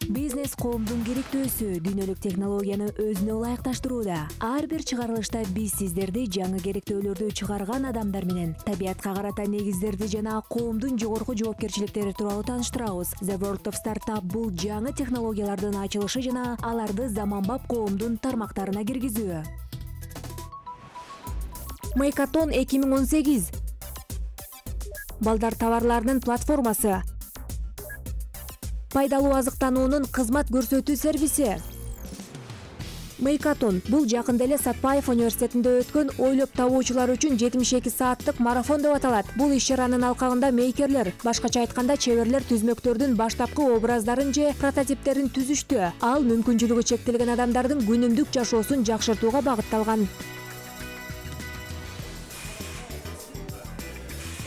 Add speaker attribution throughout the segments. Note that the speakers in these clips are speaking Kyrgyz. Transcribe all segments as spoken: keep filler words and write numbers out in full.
Speaker 1: Бизнес коомдун керектөөсү дүйнөлүк технологияны өзүнө ылайыкташтырууда. Ар бир чыгарылышта биз сиздерди жаңы керектөөлөрдү чыгарган адамдар менен табиятка карата негиздерди жана коомдун жогорку жоопкерчиликтери тууралуу тааныштырабыз. The World of Startup бул жаңы технологиялардын ачылышы жана аларды заманбап коомдун тармактарына киргизүү. Мейкатон эки миң он сегиз. Балдар товарларынын платформасы. Пайдалуу азыктануунун кызмат көрсөтүү сервиси. Мейкатон бул жакында эле Сатпаев университетинде өткөн ойлоп табуучулар үчүн жетимиш эки сааттык марафон деп аталат. Бул иш-чаранын алкагында мейкерлер, башкача айтканда чеберлер түзмөктөрдүн баштапкы образдарын же прототиптерин түзүштү. Ал мүмкүнчүлүгү чектелген адамдардын күнүмдүк жашоосун жакшыртууга багытталган.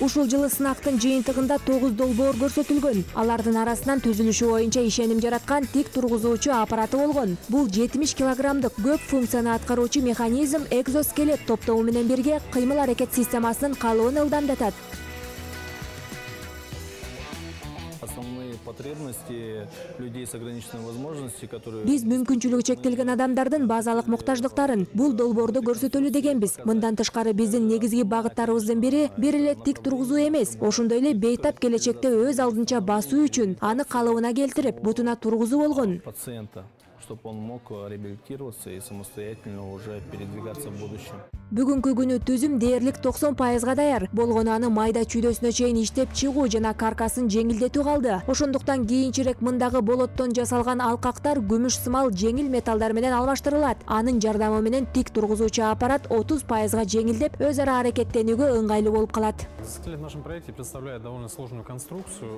Speaker 1: Ушул жылы сынактын жыйынтыгында тогуз долбоор көрсөтүлгөн. Алардын арасынан түзүлүшү боюнча ишеним жараткан тик тургузуучу аппараты болгон. Бул жетимиш килограммдык көп функцияны аткаруучу механизм экзоскелет топтому менен бирге кыймыл-аракет системасынын калыбын ылдамдатат.
Speaker 2: Основные потребности людей с ограниченными возможностями, которые...
Speaker 1: Биз мүмкүнчүлүгү чектелген адамдардын базалык муктаждыктарын бул долбоордо көрсөтөлү дегенбиз. Мындан тышкары биздин негизги багыттарыбыздын бири бир эле тик тургузуу эмес, ошондой эле бейтап келечекте өз алдынча басуу үчүн аны калыбына келтирип, бутуна тургузуу болгон.
Speaker 2: Пациента, чтобы он мог реабилитироваться и самостоятельно уже передвигаться в будущем.
Speaker 1: Бүгүнкү күнү түзүм дээрлик токсон пайызга даяр. Болгону аны майда чүйдөсүнө чейин иштеп чыгуу жана каркасын жеңилдетүү калды. Ошондуктан кийинчерээк мындагы болоттон жасалган алкактар күмүш сымал жеңил металлдар менен алмаштырылат. Анын жардамы менен тик тургузуучу аппарат отуз пайызга жеңилдеп, өз ара аракеттенүүгө ыңгайлуу болуп калат.
Speaker 3: Экзоскелет в нашем проекте представляет довольно сложную конструкцию,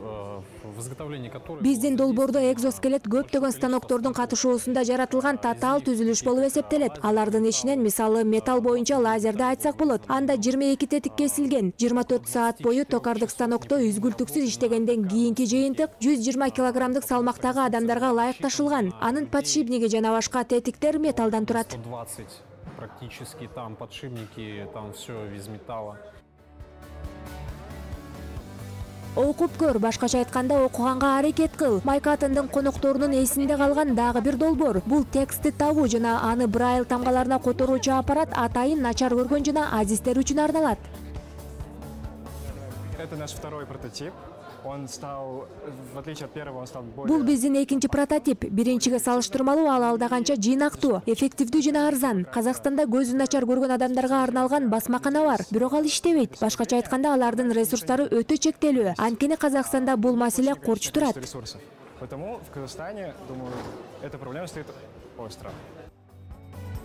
Speaker 3: в изготовлении которой...
Speaker 1: Биздин долбоордо экзоскелет көптөгөн станоктордун катышуусунда жаратылган татаал түзүлүш болуп эсептелет. Алардын ичинен мисалы металл боюнча лазерди айтсак болот. Анда жыйырма эки тетик кесилген. жыйырма төрт саат бою токардык станокто үзгүлтүксүз иштегенден кийинки жыйынтык жүз жыйырма килограммдык салмактагы адамдарга ылайыкташылган. Анын подшипниги жана башка тетиктер металлдан турат.
Speaker 3: сто двадцать практически, там подшипники, там все из металла.
Speaker 1: Окуп көр, башкача айтканда окуганга аракет кыл. Мейкатондун конокторунун эсинде калган дагы бир долбоор. Бул текстти табуу жана аны брайл тамгаларына которуучу аппарат атайын начар көргөн жана азиздер үчүн арналат.
Speaker 4: Это наш второй прототип. Он стал, в отличие от первого, он стал более...
Speaker 1: Бул биздин экинчи прототип. Биринчиге салыштырмалуу ал алдаганча жыйнактуу, эффективдүү жана арзан. Казакстанда көзү начар көргөн адамдарга арналган басмакана бар, бирок ал иштебейт. Башкача айтканда алардын ресурстары өтө чектелүү. Анткени Казакстанда бул маселе корч турат.
Speaker 4: Потому в Казахстане, думаю, эта проблема стоит остро.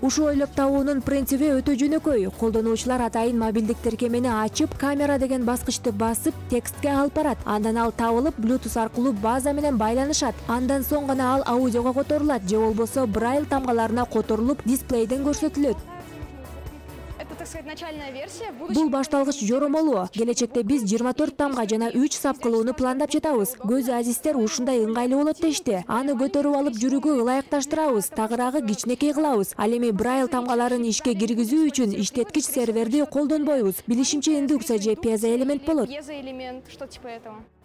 Speaker 1: Ушул ойлоп табуунун принциби өтө жөнөкөй. Колдонуучулар атайын мобилдик тиркемени ачып, камера деген баскычты басып, текстке алып барат. Андан ал табылып, Bluetooth аркылуу база менен байланышат. Андан соң гана ал аудиого которулат, же болбосо брайл тамгаларына которулуп, дисплейден көрсөтүлөт. Бул башталгыч жоромолу. Келечекте биз жыйырма төрт тамга жана үч сап кылууну пландап жатабыз. Көз азиздер ушундай ыңгайлуу болот дешти. Аны көтөрүп алып жүрүүгө ылайыкташтырабыз, тагыраагы кичинекей кылабыз. Ал эми брайл тамгаларын ишке киргизүү үчүн иштеткич серверди колдонбойбуз. Билишимче индукция же пьезоэлемент болот.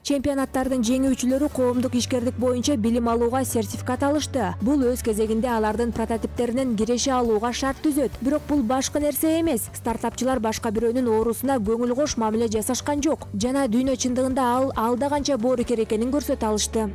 Speaker 1: Чемпионаттардын жеңүүчүлөрү коомдук ишкердик боюнча билим алууга сертификат алышты. Бул өз кезегинде алардын прототиптеринен киреше алууга шарт түзөт. Бирок бул башка нерсе эмес. Стартапчылар башка бирөөнүн оорусуна көңүл кош мамиле жасашкан жок. Жана дүйнө чындыгында ал алда канча боорукер экенин көрсөтө алышты.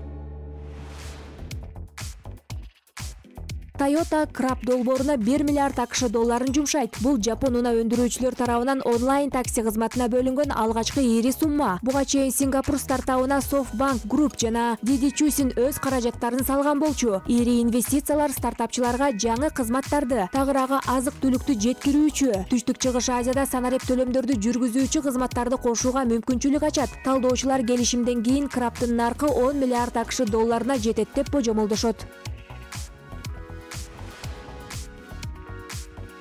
Speaker 1: Toyota Краб долбооруна бир миллиард акш долларын жумшайт. Бул жапон унаа өндүрүүчүлөр тарабынан онлайн такси кызматына бөлүнгөн алгачкы ири сумма. Буга чейин Сингапур стартабына SoftBank Group жана Didi Chuxin өз каражаттарын салган болчу. Ири инвестициялар стартапчыларга жаңы кызматтарды, тагыраагы азык-түлүктү жеткирүүчү, түштүк чыгыш Азияда санарип төлөмдөрдү жүргүзүүчү кызматтарды кошууга мүмкүнчүлүк ачат. Талдоочулар келишимден кийин Крабтын наркы он миллиард акш долларына жетет деп божомолдошот.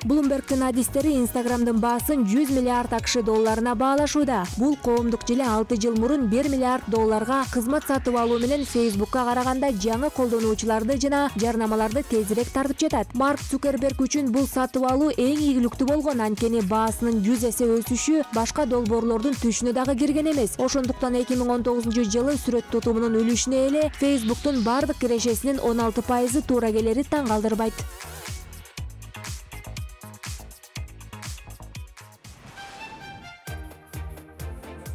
Speaker 1: Bloomberg'дин адистери Instagram'дын баасын жүз миллиард акш долларына баалашууда. Бул коомдук желе алты жыл мурун бир миллиард долларга кызмат сатып алуу менен Facebook'ка караганда жаңы колдонуучуларды жана жарнамаларды тезирээк тартып жатат. Марк Цукерберг үчүн бул сатып алуу эң ийгиликтүү болгон, анткени баасынын жүз эсе өсүшү башка долбоорлордун түшүнө дагы кирген эмес. Ошондуктан эки миң он тогузунчу жылы сүрөт тутумунун үлүшүнө эле Facebook'тун бардык кирешесинин он алты пайызы туура келери таң калтырбайт.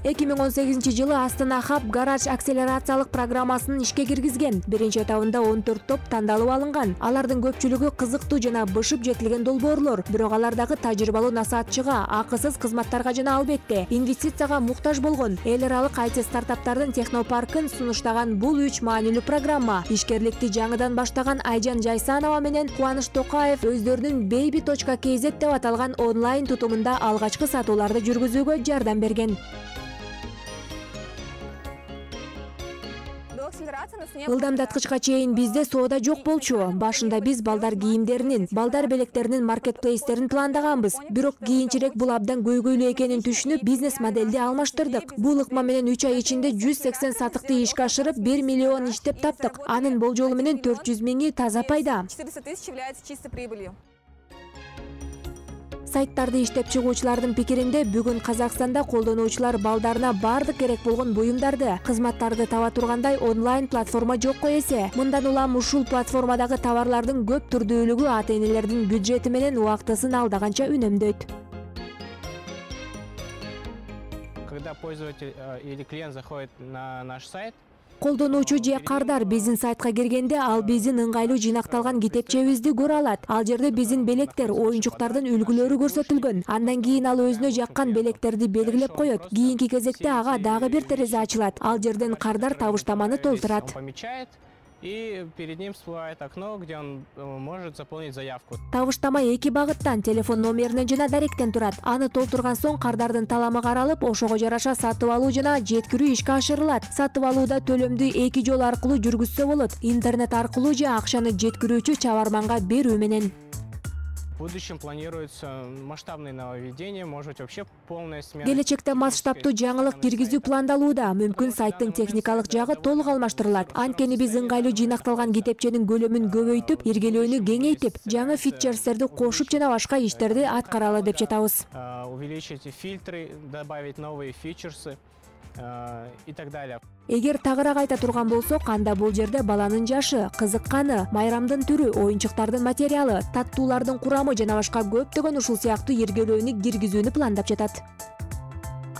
Speaker 1: эки миң он сегизинчи жылы Астана Hub гараж акселерациялык программасын ишке киргизген. Биринчи этабында он төрт топ тандалып алынган. Алардын көпчүлүгү кызыктуу жана бышып жетилген долбоорлор, бирок алар дагы тажрыйбалуу насаатчыга, акысыз кызматтарга жана албетте инвестицияга муктаж болгон. Эл аралык ай ти стартаптардын технопаркын сунуштаган бул үч маанилүү программа ишкерликти жаңыдан баштаган Айжан Жайсанова менен Кубаныч Токаев өздөрүнүн baby точка kz деп аталган онлайн тутумунда алгачкы сатууларды жүргүзүүгө жардам берген. Ылдамдаткычка чейин бизде соода жок болчу. Башында биз балдар кийимдеринин, балдар белектеринин маркетплейстерин пландаганбыз. Бирок кийинчерээк бул абдан көйгөйлүү экенин түшүнүп, бизнес моделди алмаштырдык. Бул ыкма менен үч ай ичинде жүз сексен сатыкты ишке ашырып, бир миллион иштеп таптык. Анын болжолу менен төрт жүз миңи таза пайда. Сайттарды иштеп чыгуучулардын пикиринде бүгүн Казакстанда колдонуучулар балдарына бардык керек болгон буюмдарды, кызматтарды таба тургандай онлайн платформа жокко эсе. Мындан улам ушул платформадагы товарлардын көп түрдүүлүгү ата-энелердин бюджети менен убактысын алдаганча үнөмдөйт.
Speaker 5: Когда пользователь или клиент заходит на наш сайт,
Speaker 1: колдонуучу же кардар биздин сайтка киргенде ал биздин ыңгайлуу жыйнакталган китепчебизди көрө алат. Ал жерде биздин белектер, оюнчуктардын үлгүлөрү көрсөтүлгөн. Андан кийин ал өзүнө жаккан белектерди белгилеп коет. Кийинки кезекте ага дагы бир терезе ачылат. Ал жерден кардар табыштаманы толтурат.
Speaker 5: И перед ним всплывает окно, где он может заполнить заявку.
Speaker 1: Табыштама эки багыттан, телефон номеринен жана даректен турат. Аны толтурган соң кардардын таламы каралып, ошого жараша сатып алуу жана жеткирүү ишке ашырылат. Сатып алууда төлөмдү эки жол аркылуу жүргүзсө болот. Интернет аркылуу же акчаны жеткирүүчү чабарманга берүү менен.
Speaker 5: В будущем планируется масштабное нововведение, может быть вообще полная смена.
Speaker 1: Келечекте масштабтуу жаңылык киргизүү пландалууда. Мүмкүн сайттын техникалык жагы толук алмаштырылат. Анткени биз ыңгайлуу жыйнакталган китепченин көлөмүн көбөйтүп, иргелөөнү кеңейтип, жаңы фичерстерди кошуп жана башка иштерди аткаралы деп жатабыз.
Speaker 5: Увеличить фильтры, добавить новые фичерсы и так далее.
Speaker 1: Эгер тагыраак айта турган болсок, анда бул жерде баланын жашы, кызыкканы, майрамдын түрү, оюнчуктардын материалы, таттуулардын курамы жана башка көптөгөн ушул сыяктуу иргелөөнү киргизүүнү пландап жатат.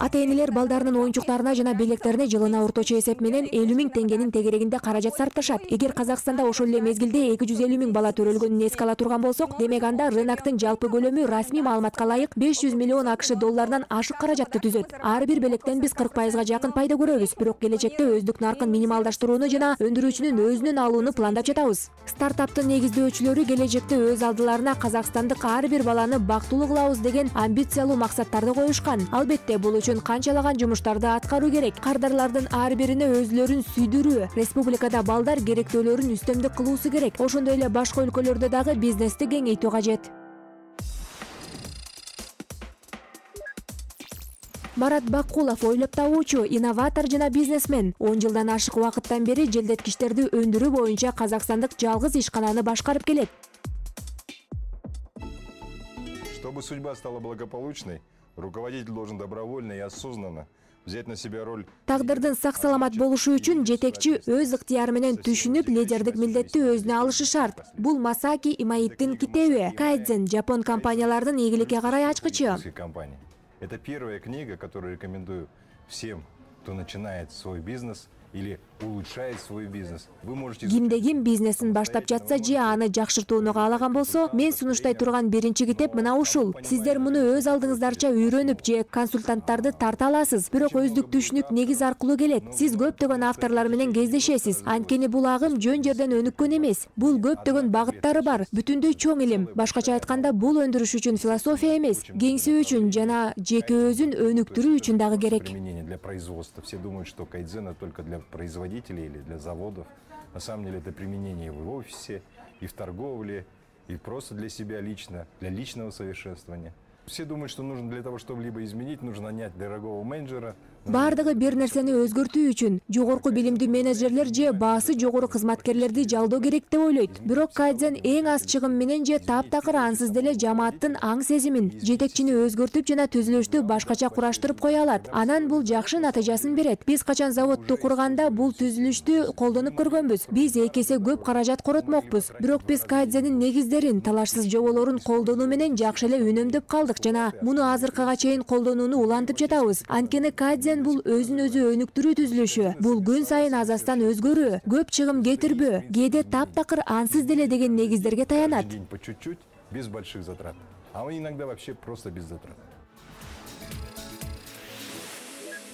Speaker 1: Ата-энелер балдарынын оюнчуктарына жана белектерине жылына орточо эсеп менен элүү миң теңгенин тегерегинде каражат сарпташат. Эгер Казакстанда ошол эле мезгилде эки жүз элүү миң бала төрөлгөнүн эске ала турган болсок, демек анда рыноктун жалпы көлөмү расмий маалыматка ылайык беш жүз миллион акш долларынан ашык каражатты түзөт. Ар бир белектен биз кырк пайызга жакын пайда көрөбүз, бирок келечекте өздүк наркын минималдаштырууну жана өндүрүүчүнүн өзүнөн алууну пландап жатабыз. Стартаптын негиздөөчүлөрү келечекте өз алдыларына казакстандык ар бир баланы бактылуу кылабыз деген амбициялуу максаттарды коюшкан. Албетте бул үчүн канчалаган жумуштарды аткаруу керек. Кардарлардын ар бирине өзүлөрүн сүйдүрүү, республикада балдар керектөөлөрүн үстөмдүк кылуусу керек. Ошондой эле башка өлкөлөрдө дагы бизнести кеңейтүү кажет. Марат Бакулов ойлоп табуучу, инноватор жана бизнесмен. он жылдан ашык убакыттан бери желдеткичтерди өндүрүү боюнча казакстандык жалгыз ишкананы башкарып келет.
Speaker 6: Чтобы судьба стала благополучной, руководитель должен добровольно и осознанно взять на себя роль.
Speaker 1: Тагдырдын сак-саламат болушу үчүн жетекчи өз ыктыяры менен түшүнүп, лидердик милдетти өзүнө алышы шарт. Бул Масаки Имаиттин китеби. Кайдзен жапон компаниялардын ийгиликке карай ачкычы.
Speaker 6: Это первая книга, которую рекомендую всем, кто начинает свой бизнес или улучшает свой бизнес. Вы можете...
Speaker 1: Кимде ким бизнесин баштап жатса же аны жакшыртууну каалаган болсо, мен сунуштай турган биринчи китеп мына ушул. Сиздер муну өз алдыңыздарча үйрөнүп же консультанттарды тарта аласыз, бирок өздүк түшүнүк негиз аркылуу келет. Сиз көптөгөн авторлор менен кездешесиз. Анткени бул агым жөн жерден өнүккөн эмес. Бул көптөгөн багыттары бар, бүтүндөй чоң илим. Башкача айтканда, бул өндүрүш үчүн философия эмес, кеңсүү үчүн жана жеке өзүн өнүктүрүү үчүн дагы керек.
Speaker 6: Для производства. Все думают, что кайдзен это только для производителей или для заводов. На самом деле это применение и в офисе, и в торговле, и просто для себя лично, для личного совершенствования. Все думают, что нужно для того, чтобы либо изменить, нужно нанять дорогого менеджера.
Speaker 1: Бардыгы бир нерсени өзгөртүү үчүн жогорку билимдүү менеджерлер же баасы жогору кызматкерлерди жалдоо керек деп ойлойт. Бирок кайдзен эң аз чыгым менен же таптакыр ансыз деле жамааттын аң сезимин, жетекчини өзгөртүп жана түзүлүштү башкача кураштырып кое алат. Анан бул жакшы натыйжасын берет. Биз качан заводду курганда бул түзүлүштү колдонуп көргөнбүз. Биз эки эсе көп каражат коротмокпуз. Бирок биз кайдзенин негиздерин, талашсыз жоболорун колдонуу менен жакшы эле үнөмдөп калдык жана муну азыркыга чейин колдонууну улантып жатабыз. Анткени кайдзен бул өзүн өзү өнүктүрүү түзүлүшү. Бул күн сайын азастан өзгөрүү, көп чыгым кетирбөө, кээде таптакыр ансыз деле деген негиздерге таянат.
Speaker 6: По чуть-чуть, без больших затрат. А иногда вообще просто без затрат.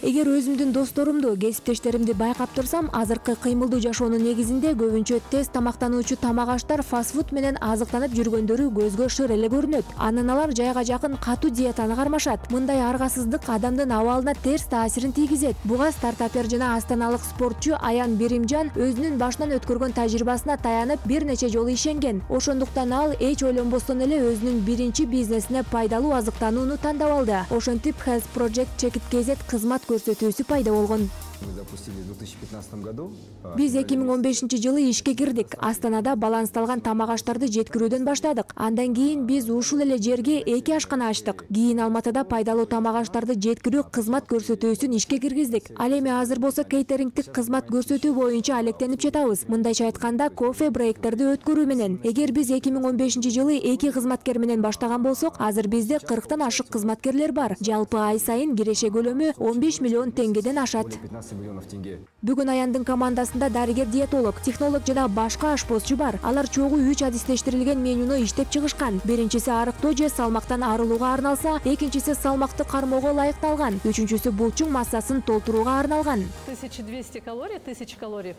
Speaker 1: Эгер өзүмдүн досторумду, кесиптештеримди байкап турсам, азыркы кыймылдуу жашоонун негизинде көбүнчө тез тамактануучу тамак аштар фастфуд менен азыктанып жүргөндөрү көзгө шыр эле көрүнөт. Анан алар жайга жакын катуу диетаны кармашат. Мындай аргасыздык адамдын абалына терс таасирин тийгизет. Буга стартапер жана астаналык спортчу Аян Биримжан өзүнүн башынан өткөргөн тажрыйбасына таянып бир нече жолу ишенген. Ошондуктан ал эч ойлонбостон эле өзүнүн биринчи бизнесине пайдалуу азыктанууну тандап алды. Ошентип Health Project Check-it кей зет кызмат көрсөтүүсү пайда болгон.
Speaker 7: Мы запустили в две тысячи пятнадцатом году.
Speaker 1: Биз эки миң он бешинчи жылы ишке кирдик. Астанада балансталган тамак аштарды жеткирүүдөн баштадык. Андан кийин биз ушул эле жерге эки ашкана ачтык. Кийин Алматыда пайдалуу тамак аштарды жеткирүү кызмат көрсөтүүсүн ишке киргиздик. Ал эми азыр болсо кейтерингдик кызмат көрсөтүү боюнча алектенип жатабыз. Мындайча айтканда, кофе брейктерди өткөрүү менен. Эгер биз эки миң он бешинчи жылы эки кызматкер менен баштаган болсок, азыр бизде кырктан ашык кызматкерлер бар. Жалпы ай сайын киреше көлөмү он беш миллион теңгеден ашат.
Speaker 7: Миллионов тенге.
Speaker 1: Бүгүн Аяндын командасында дарыгер, диетолог, технолог жана башка ашпозчу бар. Алар чогуу үч адистештирилген менюну иштеп чыгышкан. Биринчиси арыктоо же салмактан арылууга арналса, экинчиси салмакты кармоого ылайыкталган, үчүнчүсү булчуң массасын толтурууга арналган.
Speaker 8: тысяча двести калорий, тысяча калорий.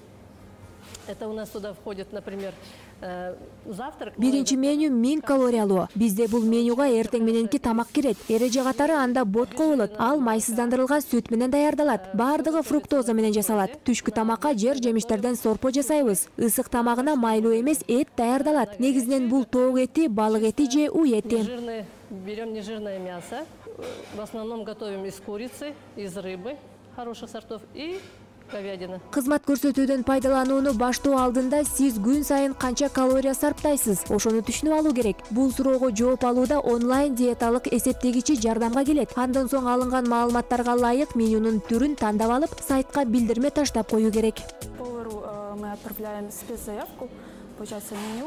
Speaker 8: Это у нас туда входит, например, завтрак.
Speaker 1: Биринчи меню миң калориялуу. Бизде бул менюга эртең мененки тамак кирет. Эреже катары анда ботко болот. Ал майсыздандырылган сүт менен даярдалат. Бардыгы фруктоза менен жасалат. Түшкү тамакка жер жемиштерден сорпо жасайбыз. Ысык тамагына майлуу эмес эт даярдалат. Негизинен бул тоок эти, балык эти же үй эти.
Speaker 8: Жирный, берем нежирное мясо. В основном готовим из курицы, из рыбы хороших сортов и говядина.
Speaker 1: Кызмат көрсөтүүдөн пайдаланууну баштоо алдында сиз күн сайын канча калория сарптайсыз? Ошону түшүнүп алуу керек. Бул суроого жооп алууда онлайн диеталык эсептегичи жардамга келет. Андан соң алынган маалыматтарга ылайык менюнун түрүн тандап алып, сайтка билдирме таштап коюу керек.
Speaker 9: Повару мы отправляем спецзаявку.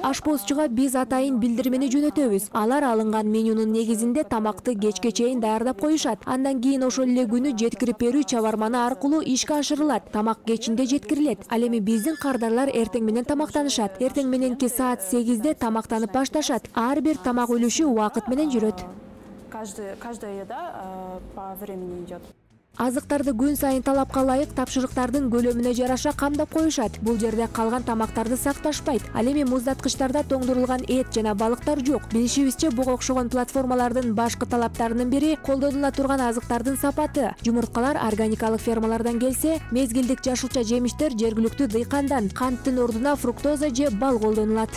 Speaker 1: Ашпозчуга биз атайын билдирмени жөнөтөбүз. Алар алынган менюнун негизинде тамакты кечке чейин даярдап коюшат. Андан кийин ошол эле күнү жеткирип берүү чабарманы аркылуу ишке ашырылат. Тамак кечинде жеткирилет. Ал эми биздин кардарлар эртең менен тамактанышат. Эртең мененки саат сегизде тамактанып башташат. Ар бир тамак үлүшү убакыт менен жүрөт.
Speaker 9: Каждая еда по времени идет.
Speaker 1: Азыктарды күн сайын талапка ылайык тапшырыктардын көлөмүнө жараша камдап коюшат. Бул жерде калган тамактарды сакташпайт. Ал эми муздаткычтарда тоңдурулган эт жана балыктар жок. Билишибизче, буга окшогон платформалардын башкы талаптарынын бири колдонула турган азыктардын сапаты. Жумурткалар органикалык фермалардан келсе, мезгилдик жашылча жемиштер жергиликтүү дыйкандан, канттын ордуна фруктоза же бал колдонулат.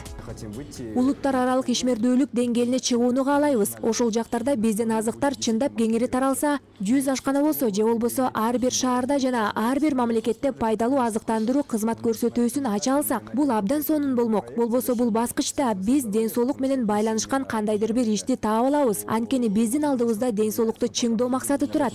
Speaker 1: Улуттар аралык ишмердүүлүк деңгээлине чыгууну каалайбыз. Ошол жактарда биздин азыктар чындап кеңири таралса, жүз ашкана болсо же болбосо ар бир шаарда жана ар бир мамлекетте пайдалуу азыктандыруу кызмат көрсөтүүсүн ача алсак, бул абдан сонун болмок. Болбосо бул баскычта биз ден соолук менен байланышкан кандайдыр бир ишти таап алабыз. Анткени биздин алдыбызда ден соолукту чыңдоо максаты турат.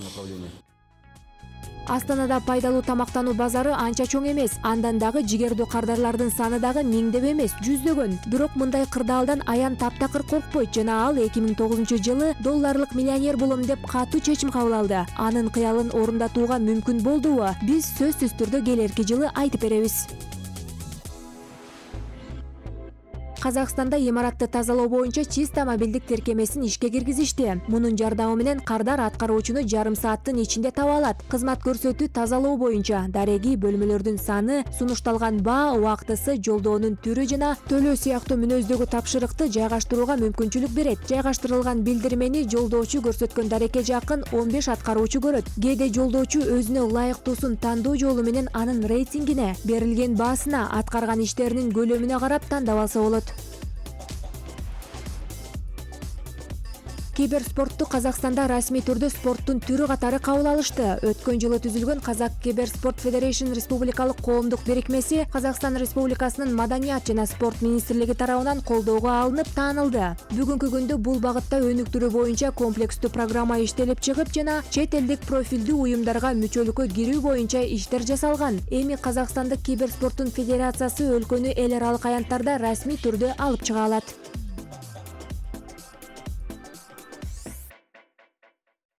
Speaker 1: Астанада пайдалуу тамактануу базары анча чоң эмес. Андан дагы жигердүү кардарлардын саны дагы миңдеп эмес, жүздөгөн. Бирок мындай кырдаалдан Аян таптакыр коркпойт жана ал эки миң тогузунчу жылы долларлык миллионер болом деп катуу чечим кабыл алды. Анын кыялын орундатууга мүмкүн болдубу? Биз сөзсүз түрдө келерки жылы айтып беребиз. Казакстанда имаратты тазалоо боюнча чиста мобилдик тиркемесин ишке киргизишти. Мунун жардамы менен кардар аткаруучуну жарым сааттын ичинде таба алат. Кызмат көрсөтүү тазалоо боюнча дареги, бөлмөлөрдүн саны, сунушталган баа, убактысы, жолдоонун түрү жана төлөө сыяктуу мүнөздөгү тапшырыкты жайгаштырууга мүмкүнчүлүк берет. Жайгаштырылган билдирмени жолдоочу көрсөткөн дарекке жакын он беш аткаруучу көрөт. Кээде жолдоочу өзүнө ылайыктуусун тандоо жолу менен анын рейтингине, берилген баасына, аткарган иштеринин көлөмүнө карап тандап алса болот. киберспортту Казакстанда расмий түрдө спорттун түрү катары кабыл алышты. Өткөн жылы түзүлгөн Казак Киберспорт Федерейшн республикалык коомдук бирикмеси Казакстан Республикасынын Маданият жана спорт министрлиги тарабынан колдоого алынып таанылды. Бүгүнкү күндө бул багытта өнүктүрүү боюнча комплекстүү программа иштелип чыгып жана чет элдик профилдүү уюмдарга мүчөлүккө кирүү боюнча иштер жасалган. Эми Казакстандык киберспорттун федерациясы өлкөнү эл аралык аянттарда расмий түрдө алып чыга алат.